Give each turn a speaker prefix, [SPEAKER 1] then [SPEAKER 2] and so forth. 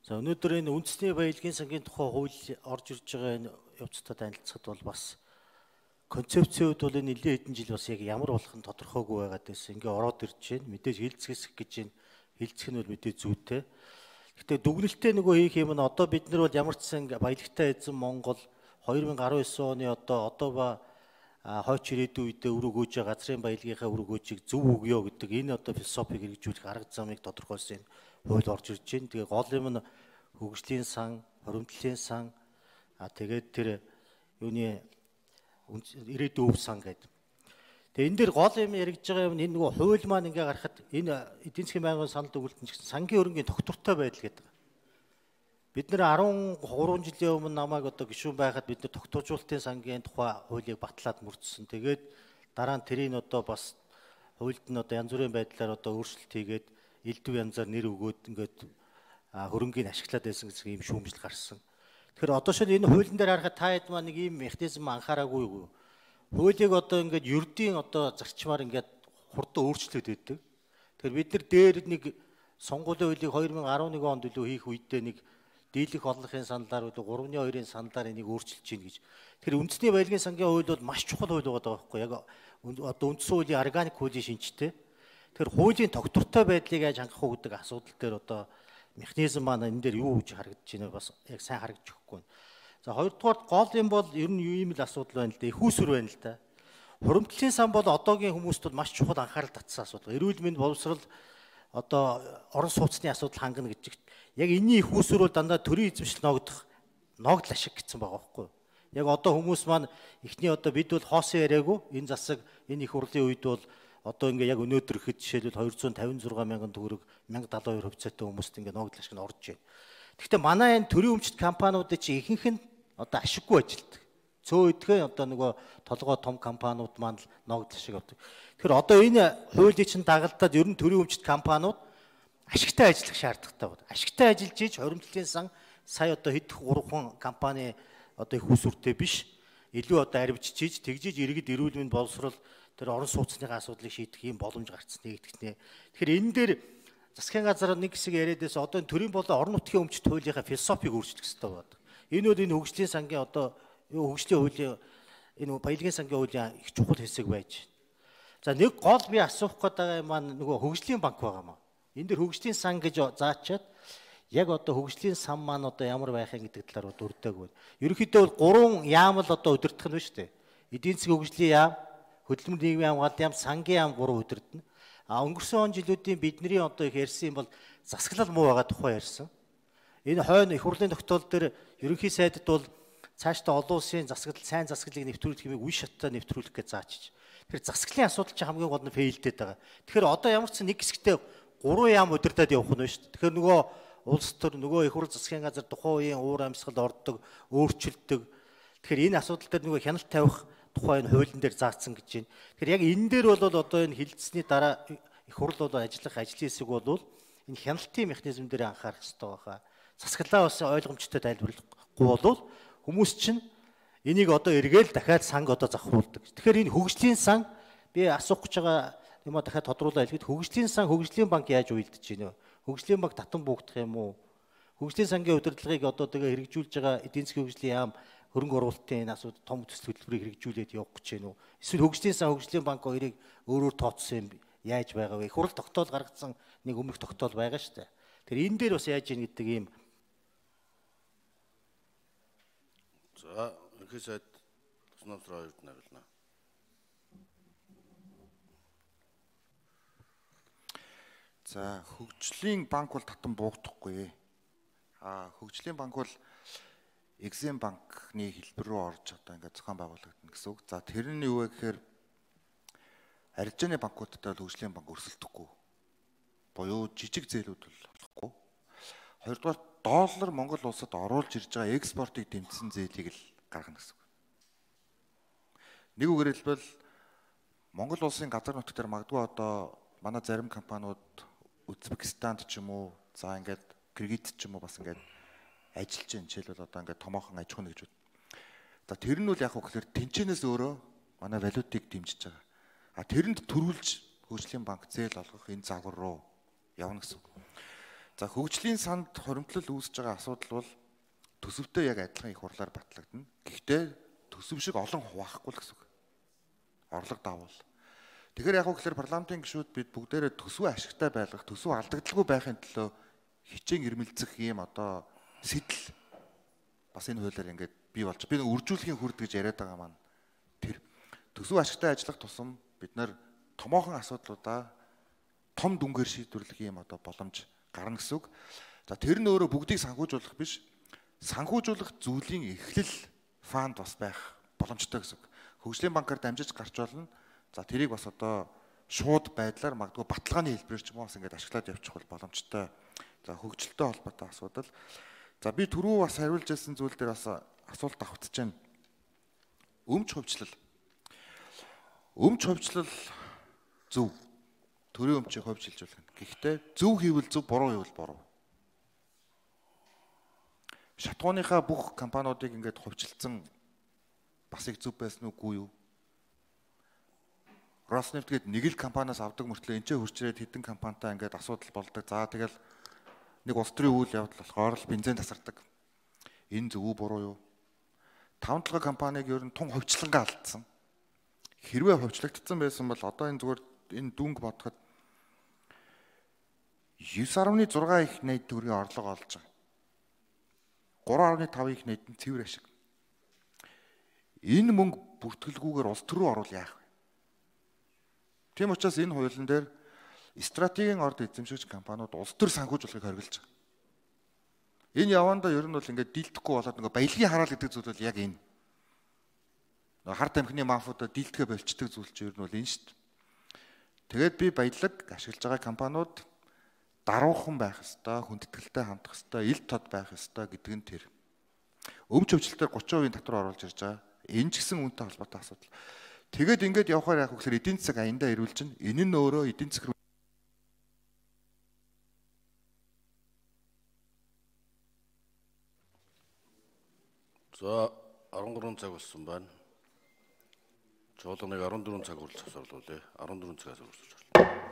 [SPEAKER 1] За өнөөдөр энэ үндэсний баялагын сангийн тухай хууль орж ирж байгаа энэ явцад танилцахад бол бас концепцийн хувьд бол энэ нэлээд хэдэн жил бас яг ямар болох нь тодорхойгүй байгаад байсан. Ингээ ороод ирж байна. Мэдээж хилцгэсэх гэж байна. Хилцэх нь бол мэдээж зүйтэй. Гэхдээ дүгнэлтээ нөгөө хийх юм нь одоо бид нар бол ямар ч сан баялагтай эзэн Монгол 2019 оны одоо ба хойч ирээдүйн үедээ өрөөгөөж газрын баялагынхаа өрөөгөөжийг зөв өгөө гэдэг энэ одоо философиг хэрэгжүүлэх арга замыг тодорхойлсон хууль орж ирж байна. Тэгээ гол юм нь хөгжлийн сан, хоримтлын сан, тэгээд тэр юуны ирээдүйн өв сан гэдэг. Тэгээ энэ дэр гол юм яригдж байгаа юм энэ нөгөө хууль маань ингээ гарахад энэ эдийн засгийн байнгын санал дүгнэлтэн ч гэсэн сангийн хөрөнгийн тогтвортой байдал гэдэг. Бид нэр 13 жилийн өмнө намайг одоо гишүүн байхад бид нар тогтворжуулалтын сангийн тухай хуулийг батлаад мөрдсөн. Тэгээд дараа нь тэрийг одоо бас хуульд нь одоо янз бүрийн байдлаар одоо өөрчлөлт хийгээд элдв янзаар нэр өгөөд ингээд хөрөнгийг ашиглаад байсан гэсэн ийм шүүмжил гарсан. Тэгэхээр одоо шил энэ хуулийн дээр харахад та хэд маань нэг ийм механизм анхаараагүй юу? Хуулийг одоо ингээд ердийн одоо зарчмаар ингээд хурдан өөрчлөлт өгдөг. Тэгэхээр бид нар дээр нэг сонгуулийн хуулийг 2011 онд илүү хийх үедээ нэг дийлэх олонхын саналаар үл 3-2-ын саналаар энийг өөрчилж гин гэж. Тэгэхээр үндэсний баялагын сангийн хууль бол маш чухал хууль байгаа байхгүй яг одоо үндсэн хуулийн органик хуулийн шинжтэй. Тэгэхээр хуулийн тогтвортой байдлыг яаж хангах уу гэдэг асуудал дээр одоо механизм маань энэ дээр юу гэж харагдаж байна бас яг сайн харагдаж өгөхгүй. За хоёрдугаар гол юм бол ер нь юу юм л асуудал байна л да. Их усүр байна л да. Хуримтлалын сан бол одоогийн хүмүүст бол маш чухал анхаарал татсан асуудал. Эрүүл мэнд боловсрал одоо орон сууцны асуудал хангана гэж. Яг энэний их усүр бол дандаа төрийн эзэмшил ногдол ашиг гэсэн байгаа байхгүй юу? Яг одоо хүмүүс маань эхний одоо бид бол хоосон яриаггүй энэ засаг энэ их хурлын үед бол одоо ингээ яг өнөөдөр ихэд жишээлбэл 256 мянган төгрөг 1072 хувьцаатай хүмүүст ингээ ногдол ашиг нь орж байна. Гэхдээ манай энэ төрийн өмчт компаниудын чи ихэнх нь одоо ашиггүй ажилтдаг. Цөө идэхэн одоо нөгөө толгой том компаниуд маань л ногдол ашиг авдаг. Тэгэхээр одоо энэ хуулийн чинь дагалдаад ер нь төрийн өмчт компаниуд ашигтай ажиллах шаардлагатай байна. Ашигтай ажиллаж ийж хоримтлалын сан сая одоо хэдэх 3 компани одоо их усүртэй биш илүү одоо арвижж ийж тэгжиж иргэд эрүүл мэнд боловсрол тэр орон сууцныхаа асуудлыг шийдэх юм боломж гарцсан нэгтгэнэ. Тэгэхээр энэ дээр засгийн газар нэг хэсэг яриадээс одоо төрийн болон орон нутгийн өмчт хуулийнхаа философиг өөрчлөх хэрэгтэй байна. Энэ бол энэ хөгжлийн сангийн одоо хөгжлийн хуулийн энэ баялагын сангийн хуулийн их чухал хэсэг байж. За нэг гол би асуух гэдэг юм маань нөгөө хөгжлийн банк байгаа маа. Энд дэр хөгжлийн сан гэж заачаад яг одоо хөгжлийн сан маань одоо ямар байх юм гэдэг талаар дурддаг байна. Ерөнхийдөө бол 3 яам л одоо удирдах нь ба штэ. Эдийн засгийн хөгжлийн яам, хөдөлмөр нийгмийн хамгаалалт яам, сангийн яам 3 удирдана. Өнгөрсөн он жилүүдийн бидний одоо их ярьсан бол засаглал муу байгаа тухай ярьсан. Энэ хойно их хурлын тогтоол дээр ерөнхий сайдд бол цаашдаа олон улсын засаглал, сайн засаглалыг нэвтрүүлэх хэмээг үе шаттай нэвтрүүлэх гэж заачиж. Тэгэхээр засаглалын асуудал чинь хамгийн гол нь фейлдэд байгаа. Тэгэхээр одоо ямар ч нэг хэсэгтээ 3 яам удирдаад явах нь шүү дээ. Тэгэхээр нөгөө улс төр нөгөө их хурл засгийн газар тухайн үеийн уур амьсгал ордог, өөрчилдөг. Тэгэхээр энэ асуудал дээр нөгөө хяналт тавих тухай энэ хуулийн дээр заасан гэж байна. Тэгэхээр яг энэ дээр бол одоо энэ хилцсэний дараа их хурл бол ажиллах ажлын хэсэг бол энэ хяналтын механизм дээр анхаарах хэрэгтэй байгаа. Засаглалаа бас ойлгомжтой тайлбарлахгүй бол хүмүүс чинь энийг одоо эргээл дахиад санг одоо завхруулдаг. Тэгэхээр энэ хөгжлийн сан би асуух гэж байгаа юм а дахиад тодруулаад хэлэхэд хөгжлийн сан хөгжлийн банк яаж уйлдэж байна вэ? Хөгжлийн банк татан буугдах юм уу? Хөгжлийн сангийн удирдлагыг одоо тэгээ хэрэгжүүлж байгаа эдийн засгийн хөгжлийн яам хөрөнгө оруулалтын энэ асуудал том төсөл хөтөлбөрийг хэрэгжүүлээд явах гэж байна уу? Эсвэл хөгжлийн сан хөгжлийн банк хоёрыг өөрөөр тооцсон юм яаж байгаа вэ? Хурал тогтоол гаргасан нэг өмнөх тогтоол байгаа шүү дээ. Тэр энэ дээр бас яаж ийн гэдэг ийм.
[SPEAKER 2] За ерхий сайд Туснаамсраа хоёрт хариулна.
[SPEAKER 3] За хөгжлийн банк бол татан буугдахгүй. Хөгжлийн банк бол Exim банкны хэлбэр рүү орж одоо ингээд зохион байгуулагдана гэсэн үг. За тэрний юу вэ гэхээр арилжааны банкудтай бол хөгжлийн банк өрсөлдөхгүй. Буюу жижиг зээлүүд бол болохгүй. Хоёрдугаар доллар Монгол улсад оруулж ирж байгаа экспортыг дэмжсэн зээлийг л гаргана гэсэн үг. Нэг үгээр хэлбэл Монгол улсын газар нутаг дээр магадгүй одоо манай зарим компаниуд Узбекистанд ч юм уу, за ингээд Кыргызд ч юм уу бас ингээд ажиллаж байна. Жишээлбэл одоо ингээд томоохон аж ахуйн нэгжүүд. За тэр нь бол яг хөө гэхээр тэнцэнээс өөрөө манай валютыг дэмжиж байгаа. Тэрэнд төрүүлж хөгжлийн банк зээл олгох энэ загвар руу явна гэсэн үг. За хөгжлийн санд хоримтлал үүсэж байгаа асуудал бол төсөвтэй яг адилхан их хурлаар батлагдана. Гэхдээ төсөв шиг олон хуваахгүй л гэсэн үг. Орлого давуул. Тэгэхээр яг үгээр парламентын гишүүд бид бүгдээрээ төсвөө ашигтай байлгах, төсвөө алдагдaltaгүй байхын төлөө хичээн ирмэлцэх ийм одоо сэтэл бас энэ хуулиар ингээд бий болж. Би нэг үржүүлэхийн хүрд гэж яриад байгаа маань тэр төсвөө ашигтай ажиллах тусам бид нар томоохон асуудлуудаа том дүнгээр шийдвэрлэх ийм одоо боломж гарна гэсэн үг. За тэр нь өөрөө бүгдийг санхүүжуулах биш. Санхүүжуулах зүйлийн эхлэл фанд бас байх боломжтой гэсэн үг. Хөгжлийн банкар дамжиж гарч болно. За тэрийг бас одоо шууд байдлаар магадгүй баталгааны хэлбэрээр ч юм уу бас ингэж ашиглаад явчих бол боломжтой. За хөгжилтэй холбоотой асуудал. За би түрүү бас хариулж байсан зүйл дээр бас асуулт авчиж байна. Өмч хувьчлал. Өмч хувьчлал зөв. Төрийн өмчийг хувьчилжуулах нь. Гэхдээ зөв хийвэл зөв, буруу хийвэл буруу. Шатгууныхаа бүх компаниудыг ингээд хувьчилсан бас их зөв байсан үгүй юу? Роснефть гээд нэг л компаниас авдаг мөртлөө энэ ч хурцрээд хэдэн компанитай ингээд асуудал болдог. За тэгэл нэг улс төрийн үйл явдал болохоор л бензин тасардаг. Энэ зөв үү, буруу юу? 5-7 компаниг ер нь тун хувьчлангаа алдсан. Хэрвээ хувьчлагдсан байсан бол одоо энэ зүгээр энэ дүнг бодоход 9.6 их найд төгрөгийн орлого олж байгаа. 3.5 их найд нь цэвэр ашиг. Энэ мөнгө бүртгэлгүйгээр улс төр рүү оруул яах вэ? Тийм учраас энэ хуулийн дээр стратегийн орд эзэмшигч компаниуд улс төр санхүүжуулахыг хориглож байгаа. Энэ явандаа ер нь бол ингээд дийлдэхгүй болоод нөгөө баялагын хараал гэдэг зүйл бол яг энэ. Хар тамхины мафиудаа дийлдэхэ болчдөг зүйл чинь ер нь бол энэ шүү дээ. Тэгээд би баялаг ашиглаж байгаа компаниуд даруухан байх ёстой, хүндэтгэлтэй хандах ёстой, ил тод байх ёстой гэдэг нь тэр. Өмч өвчлөлтөөр 30% татвар оруулж ирж байгаа. Энэ ч гэсэн үүнтэй холбоотой асуудал. Тэгээд ингээд явахаар яг үгээр эдийн засаг аяндаа ирүүлж чинь энэ нь өөрөө эдийн засаг
[SPEAKER 2] За 13 цаг болсон байна. Чуулганыг 14 цаг хүртэл засварлуулъя. 14 цагаас үргэлжлүүлж байна.